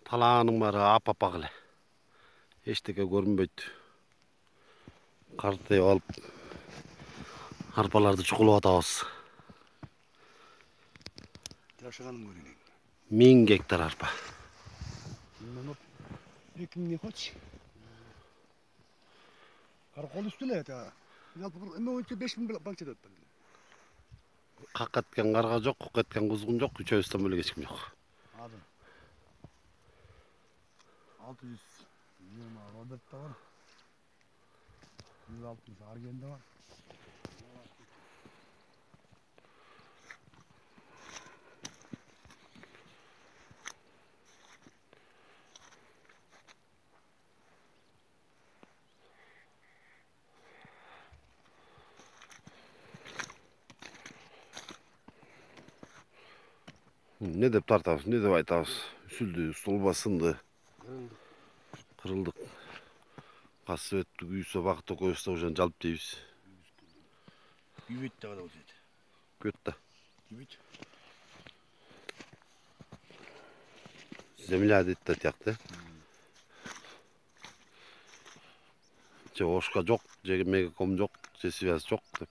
Талаанын баары ап-апак эле. Эчтеке көрүнбөйт. Картайып алып арпаларды чукулуп атабыз. Жашаганым көрейин. 1000 гектар арпа. 2000 хоч. Кол үстүлө эте. Жалпы эме боюнча 5000 банкча деп атпадым. Какка эткен карга жок, кук эткен кузгун жок, үчөөбүздөн бөлөк эч ким жок. Азыр 600 Роберт'та бар. 160 Арген'de var. Ne деп тартабыз, не деп айтабыз? Үсүлдү, столба сынды. Кырылдык. Касып өттүк, үйсө бакыт экөөбүз да ошон жалп дейбиз. Күйбөйт дагы да болот. Көт да. Күйбөйт. Земля дейт да тиякты. Же ошка жок, же мегаком жок, же связь жок деп.